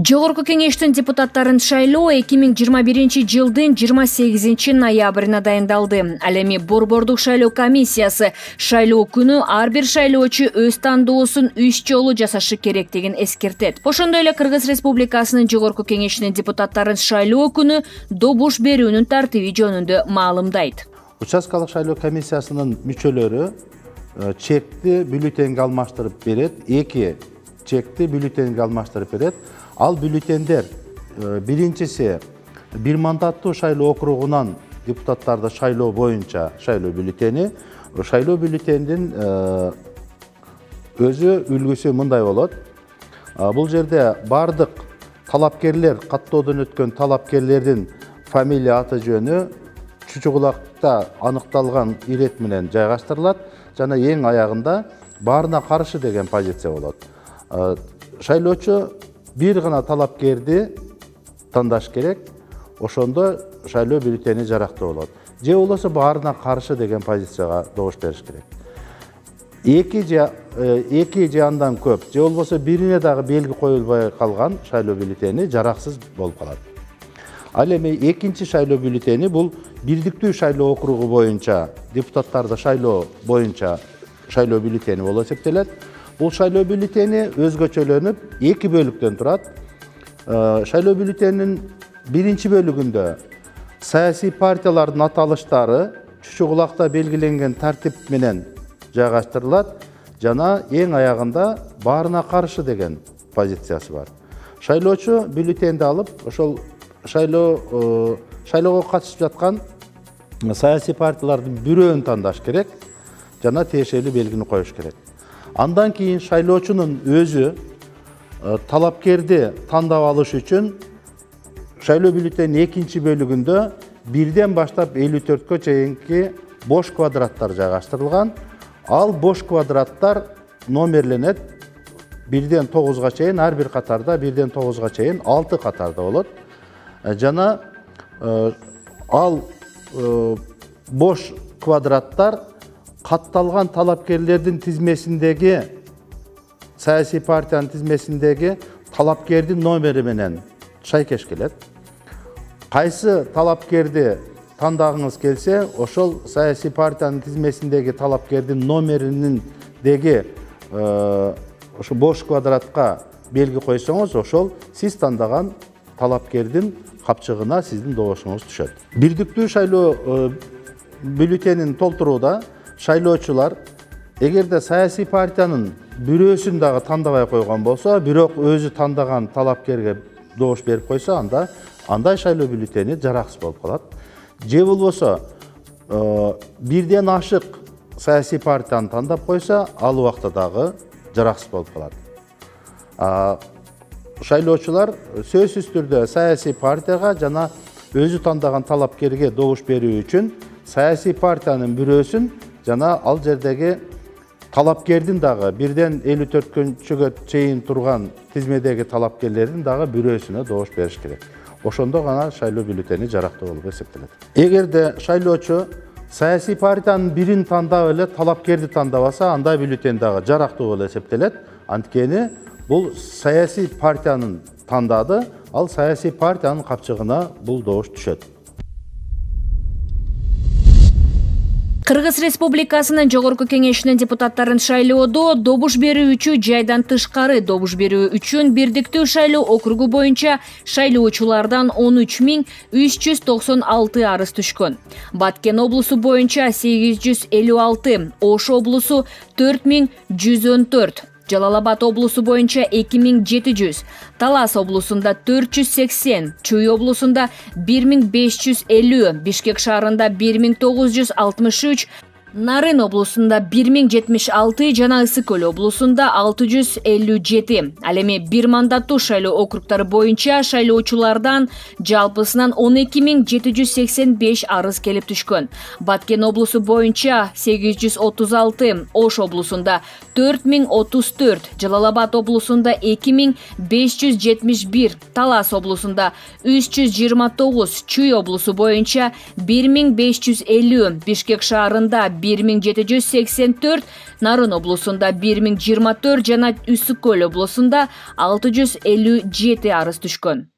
Жогорку кеңештин депутаттарын шайлоо 2021-жылдын 28 ноябрына дайындалды. Ал эми борбордук шайлоо комиссиясы шайлоо күнү ар бир шайлоочу өз тандоосун 3 жолу жасашы керектигин эскертет. Ошондой эле Кыргыз Республикасынын Жогорку кеңешинин депутаттарын шайлоо күнү добуш берүүнүн тартиби жөнүндө маалымдайт. Участкалык шайлоо комиссиясынын мүчөлөрү чекти бюллетенге алмаштырып берет, 2 чекти бюллетенге алмаштырып берет. Ал бюллетендер биринчиси бир мандаттуу шайлоо округунан депутаттарды шайлоо боюнча шайлоо бюллетени. Шайлоо бюллетендин өзү үлгүсү мындай болот. Бул жерде бардык талапкерлер, каттоодон өткөн талапкерлердин фамилия, аты жөнү чучугулакта аныкталган ирет менен жайгаштырылат жана эң аягында баарына каршы деген позиция болот. Шайлоочу бир гана талапкерди тандаш керек, ошондо шайлоо бюллетени жарактуу болот. Же болбосо баарына каршы деген позицияга добуш бериш керек. Эки же андан көп, же болбосо бирине дагы белги коюлбай калган шайлоо бюллетени жараксыз болуп калат. Ал эми экинчи шайлоо бюллетени бул бирдиктүү шайлоо округу боюнча депутаттарды шайлоо боюнча шайлоо бюллетени болуп эсептелет. Бул шайлоо бюллетени өзгөчөлөнүп 2 бөлүктөн турат. Шайлоо бюллетенинин биринчи бөлүгүндө саясий партиялардын аталыштары чучугулакта белгиленген тартип менен жайгаштырылат жана эң аягында баарына каршы деген позициясы бар. Шайлоочу бюллетенди алып, ошол шайлоого катышып жаткан саясий партиялардын бирөөнү тандаш керек жана тиешелүү белгини коюш керек. Андан кийин шайлоочунун өзү талапкерди тандап алыш үчүн шайлоо бюллетенинин экинчи бөлүгүндө 1ден баштап 54кө чейинки бош квадраттар жайгаштырылган. Ал бош квадраттар номерленет 1ден 9га чейин, ар бир катарда 1ден 9га чейин 6 катарда болот. Жана ал бош квадраттар катталган талапкерлердин тизмесиндеги саясий партиянын тизмесиндеги талапкердин номери менен шайкеш келет. Кайсы талапкерди тандагыңыз келсе, ошол саясий партиянын тизмесиндеги талапкердин номерининдеги ошо бош квадратка белги койсоңуз, ошол сиз тандаган талапкердин капчыгына сиздин добушуңуз түшөт. Бирдиктүү шайлоо бюллетенин толтурууда шайлоочулар эгерде саясий партиянын бирөөсүн дагы тандабай койгон болсо, бирок өзү тандаган талапкерге добуш берип койсо, андай шайлоо бюллетени жараксыз болуп калат. Же болбосо 1ден ашык саясий партияны тандап койсо, ал убакта дагы жараксыз болуп калат. Шайлоочулар сөзсүз түрдө саясий партияга жана өзү тандаган талапкерге добуш берүү үчүн саясий партиянын бирөөсүн жана ал жердеги талапкердин дагы 1ден 54кө чейин турган тизмедеги талапкерлердин дагы бирөөсүнө добуш бериш керек. Ошондо гана шайлоо бюллетени жарактуу болуп эсептелет. Эгерде шайлоочу саясий партиянын бирин тандап эле талапкерди тандабаса, андай бюллетен дагы жарактуу болуп эсептелет. Анткени бул саясий партиянын тандады, ал саясий партиянын капчыгына бул добуш түшөт. Кыргыз Республикасынын Жогорку кеңешинин депутаттарын шайлоодо добуш берүүчү жайдан тышкары добуш берүү үчүн бирдиктүү шайлоо округу боюнча шайлоочулардан 13396 арыз түшкөн. Баткен облусу боюнча 856, Ош облусу 4114, Жалал-Абад облусу боюнча 2700, Талас облусунда 480, Чүй облусунда 1550, Бишкек шаарында 1963, Нарын облусунда 1076 жана Ысык Көл облусунда 657. Ал эми бир мандаттуу шайлоо округдары боюнча шайлоочулардан жалпысынан 12785 арыз келип түшкөн. Баткен облусу боюнча 836, Ош облусунда 4034, Жалал-Абад облусунда 2571, Талас облусунда 329, Чүй облусу боюнча 1550, Бишкек шаарында 1784, Нарын облусунда 1024 жана Үсүк көл облусунда 657 арыз түшкөн.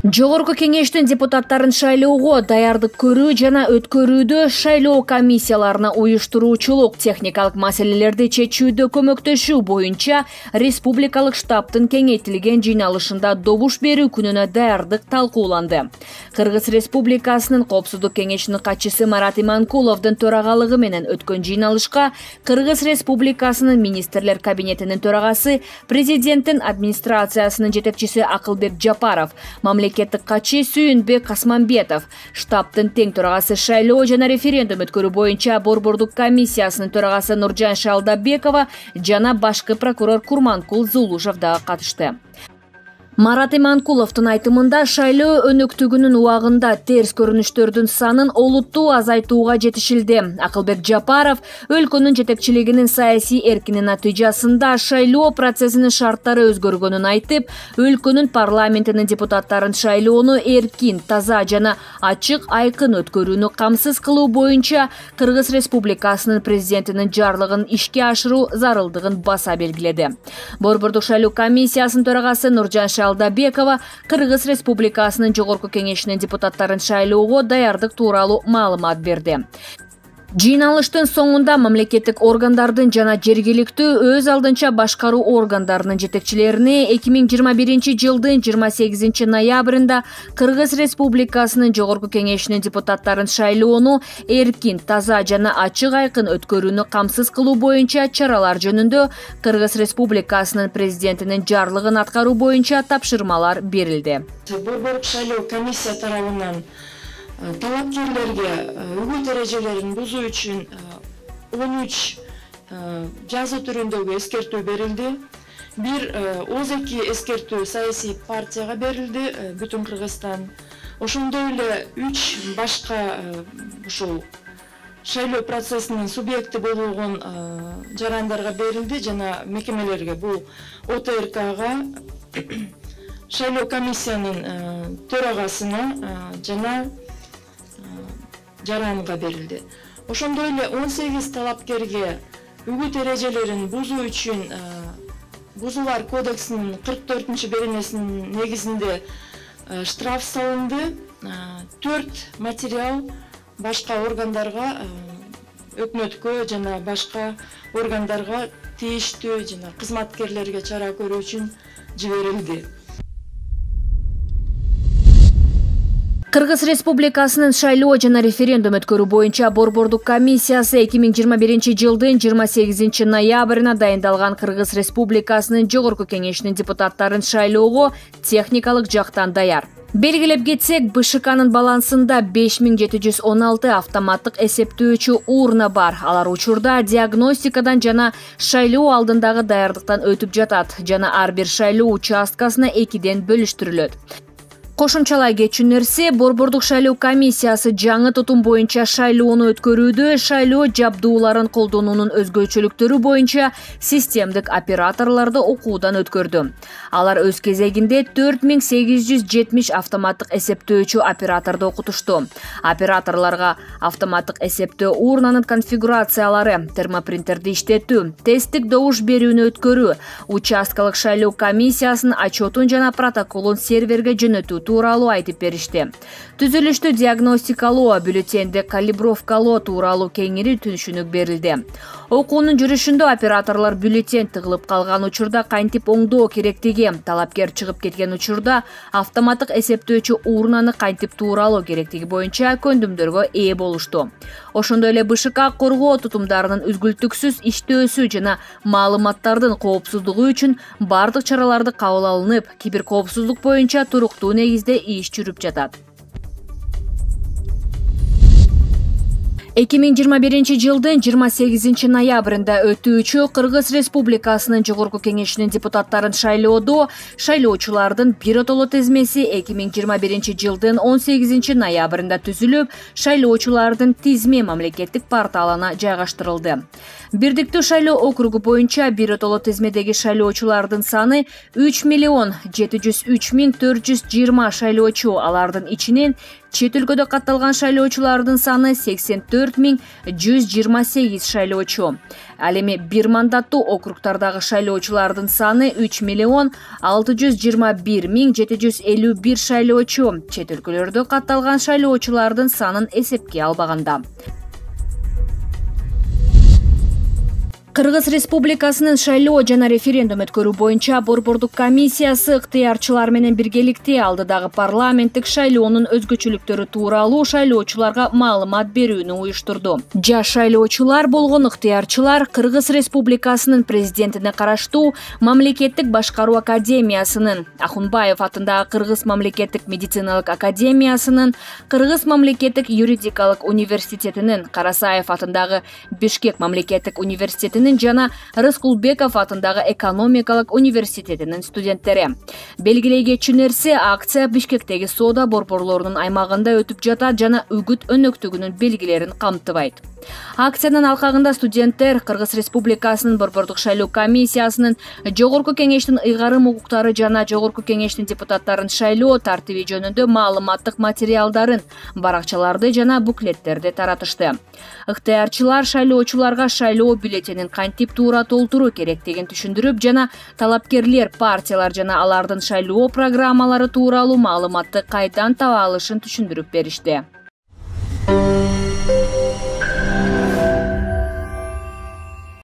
Жогорку кеңештин депутаттарын шайлоого даярдык көрүү жана өткөрүүдө шайлоо комиссияларына уюштуруучулук, техникалык маселелерди чечүүдө көмөктөшүү боюнча республикалык штабтын кеңейтилген жыйналышында добуш берүү күнүнө даярдык талкууланды. Кыргыз Республикасынын Коопсуздук кеңешинин катчысы Марат Иманкуловдун төрагалыгы менен өткөн жыйналышка Кыргыз Республикасынын министрлер кабинетинин төрагасы, президенттин администрациясынын жетекчиси Акылбек Жапаров, мамлекеттик катчы Сүйүнбек Касманбетов, штабтын тең төрагасы шайлоо жана референдум өткөрүү боюнча Борбордук комиссиясынын төрагасы Нуржан Шалдабекова жана башкы прокурор Курманкул Зулушев дагы катышты. Марат Иманкуловдун айтымында шайлоо өнөктүгүнүн убагында терс көрүнүштөрдүн санын олуттуу азайтууга жетишилди. Акылбек Жапаров өлкөнүн жетекчилигинин саясий эркинин натыйжасында шайлоо процессинин шарттары өзгөргөнүн айтып, өлкөнүн парламентинин депутаттарын шайлоону эркин, таза жана ачык айкын өткөрүүнү камсыз кылуу боюнча Кыргыз Республикасынын президентинин жарлыгын ишке ашыруу зарылдыгын баса белгиледи. Борбордук шайлоо комиссиясынын төрагасы Нуржан Шалдабекова Кыргыз Республикасынын Жогорку кеңешинин депутаттарын шайлоого даярдык тууралуу маалымат берди. Жыйналыштын соңунда мамлекеттик органдардын жана жергиликтүү өз алдынча башкаруу органдарынын жетекчилерине 2021 жылдын 28 ноябрында Кыргыз Республикасынын Жогорку кеңешинин депутаттарын шайлоону эркин, таза жана ачык айкын өткөрүүнү камсыз кылуу боюнча чаралар жөнүндө Кыргыз Республикасынын президентинин жарлыгын аткаруу боюнча тапшырмалар берилди. Борбордук шайлоо комиссия тарабынан талапкерлерге үгүт эрежелерин бузуу үчүн 13 жазуу түрүндөгү эскертүү берилди. Бир ооз-2 эскертүү саясий партияга берилди, бүтүн Кыргызстан. Ошондой эле 3 башка ушул шайлоо процессинин субъекти болгон жарандарга берилди жана мекемелерге, бул ОТРКга, шайлоо комиссиянын төрагасына жана жаранга берилди. Ошондой эле 18 талапкерге үгүт эрежелерин бузуу үчүн Бузуулар кодексинин 44-беренесинин негизинде штраф салынды. 4 материал башка органдарга, өкмөткө жана башка органдарга тийиштүү жана кызматкерлерге чара көрүү үчүн жиберилди. Кыргыз Республикасынын шайлоо жана референдум өткөрүү боюнча Борбордук комиссиясы 2021 жылдын 28 ноябрына дайындалган Кыргыз Республикасынын Жогорку кеңешинин депутаттарын шайлоого техникалык жактан даяр. Белгилеп кетсек, БШКнын балансында 5716 автоматтык эсептөөчү урна бар. Алар учурда диагностикадан жана шайлоо алдындагы даярдыктан өтүп жатат жана ар бир шайлоо участкасына 2ден бөлүштүрүлөт. Кошумчалай кетчү нерсе, Борбордук шайлоо комиссиясы жаңы тутум боюнча шайлоону өткөрүүдө шайлоо жабдууларын колдонуунун өзгөчөлүктөрү боюнча системдик операторлорду окуудан өткөрдү. Алар өз кезегинде 4870 автоматтык эсептөөчү операторду окутушту. Операторлорго автоматтык эсептөө урнанын конфигурациялары, термопринтерди иштетүү, тесттик добуш берүүнү өткөрүү, участкалык шайлоо комиссиясынын отчетун жана протоколун серверге жөнөтүү тууралуу айтып беришти. Түзүлүштү диагностикалоо, бюллетенди калибровкалоо тууралуу кеңири түшүнүк берилди. Окуунун жүрүшүндө операторлор бюллетен тыгылып калган учурда кантип оңдоо керектиги, талапкер чыгып кеткен учурда автоматтык эсептөөчү урнаны кантип тууралоо керектиги боюнча көндүмдөргө ээ болушту. Ошондой эле БШК коргоо тутумдарынын үзгүлтүксүз иштөөсү жана маалыматтардын коопсуздугу үчүн бардык чараларды кабыл алынып, киберкоопсуздук боюнча туруктуу негизде иш жүрүп жатат. 2021 жылдын 28 ноябрында өтүүчү Кыргыз Республикасынын Жогорку кеңешинин депутаттарын шайлоодо шайлоочулардын биротоло тизмеси 2021 жылдын 18 ноябрында түзүлүп, шайлоочулардын тизме мамлекеттик порталына жайгаштырылды. Бирдиктүү шайлоо округу боюнча биротоло тизмедеги шайлоочулардын саны 3 703 420 шайлоочу, алардын ичинен Чет өлкөдө катталган шайлоочулардын саны 84.128 шайлоочу. Ал эми бир мандаттуу округдардагы шайлоочулардын саны 3.621.751 шайлоочу. Чет өлкөлөрдө катталган шайлоочулардын санын эсепке албаганда. Кыргыз Республикасынын шайлоо жана референдум өткөрүү боюнча Борбордук комиссиясы ыктыярчылар менен биргеликте алдыдагы парламенттик шайлоонун өзгөчөлүктөрү тууралуу шайлоочуларга маалымат берүүнү уюштурду. Жаш шайлоочулар болгон ыктыярчылар Кыргыз Республикасынын президентине караштуу Мамлекеттик башкаруу академиясынын, Ахунбаев атындагы Кыргыз мамлекеттик медициналык академиясынын, Кыргыз мамлекеттик юридикалык университетинин, Карасаев атындагы Бишкек мамлекеттик университетинин жана Рыскулбеков атындагы экономикалык университетинин студенттери. Белгилей кетчү нерсе, акция Бишкектеги соода борборлорунун аймагында өтүп жатат жана үгүт өнөктүгүнүн белгилерин камтыбайт. Акциянын алкагында студенттер Кыргыз Республикасынын Борбордук шайлоо комиссиясынын, Жогорку кеңештин ыйгарым укуктары жана Жогорку кеңештин депутаттарын шайлоо тартиби жөнүндө маалыматтык материалдарын, баракчаларды жана буклеттерди таратышты. Ыктыярчылар шайлоочуларга шайлоо бюллетенин кантип туура толтуруу керектигин түшүндүрүп жана талапкерлер, партиялар жана алардын шайлоо программалары тууралуу маалыматты кайдан таба алышын түшүндүрүп беришти.